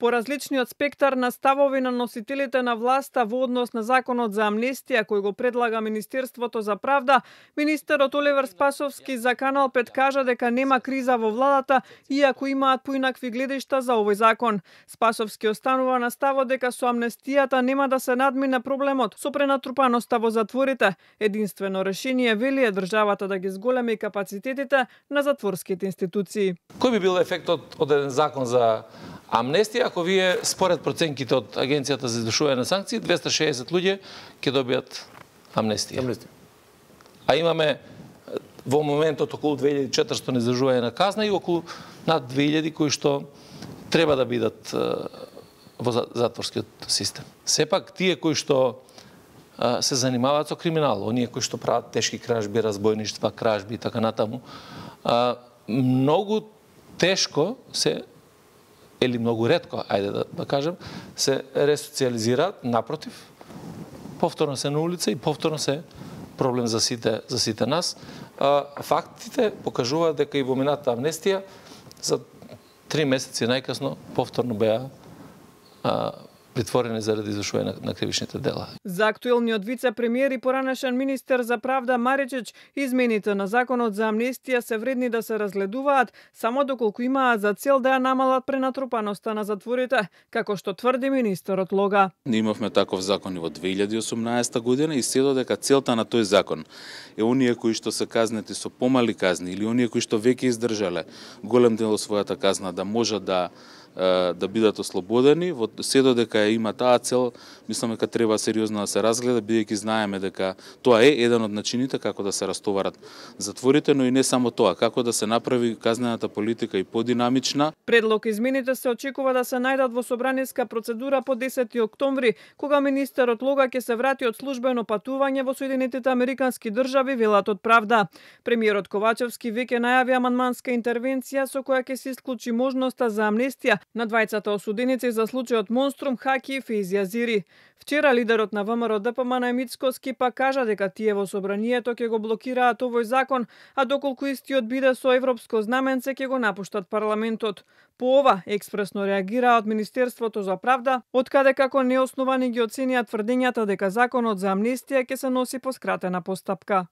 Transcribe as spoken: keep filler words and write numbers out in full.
По различниот спектар на ставови на носителите на власта во однос на законот за амнестија кој го предлага Министерството за правда, министерот Оливер Спасовски за Канал пет кажа дека нема криза во владата, иако имаат поинакви гледишта за овој закон. Спасовски останува на ставот дека со амнестијата нема да се надмине проблемот со пренатрупаноста во затворите. Единствено решение, вели, е државата да ги зголеми капацитетите на затворските институции. Кој би бил ефектот од еден закон за амнестија, ако вие според проценките од Агенцијата за извршување на санкции, двеста и шеесет луѓе ќе добијат амнестија. амнестија. А имаме во моментот околу две илјади и четиристотини издржување на казна и околу над две илјади кои што треба да бидат во затворскиот систем. Сепак тие кои што се занимаваат со криминал, оние кои што прават тешки кражби, разбојништва, кражби и така натаму, многу тешко се или многу ретко, ајде да, да кажем, се ресоциализираат, напротив, повторно се на улица и повторно се проблем за сите, за сите нас. А, фактите покажуваат дека и во минатата амнестија за три месеци најкасно повторно беа а, притворени заради извршување на, на кривичните дела. За актуелниот вице-премиер и поранешен министер за правда Маричич, измените на законот за амнестија се вредни да се разгледуваат само доколку имаат за цел да ја намалат пренатрупаноста на затворите, како што тврди министерот Лога. Ние имавме таков закон и во две илјади и осумнаесета година и се додека целта на тој закон е оние кои што се казнети со помали казни или оние кои што веќе издржале голем дел од својата казна да можат да да бидат ослободени, во се додека има таа цел, мислам дека треба сериозно да се разгледа, бидејќи знаеме дека тоа е еден од начините како да се растоварат затворите, но и не само тоа, како да се направи казнената политика и подинамична. Предлог измените се очекува да се најдат во собраниска процедура по десети октомври, кога министерот Лога ќе се врати од службено патување во Соединетите Американски држави, велат од Правда. Премиерот Ковачевски веќе најави амандманска интервенција со која ќе се исклучи можноста за амнестија на двајцата осуденици за случајот Монструм, Хаки и Фейзи Азири. Вчера лидерот на ВМРО Д П М на Мицкоски па кажа дека тие во собранието ќе го блокираат овој закон, а доколку истиот биде со европско знаменце ќе го напуштат парламентот. По ова експресно реагира од Министерството за правда, откаде како неосновани ги оценија тврдењата дека законот за амнестија ќе се носи по скратена постапка.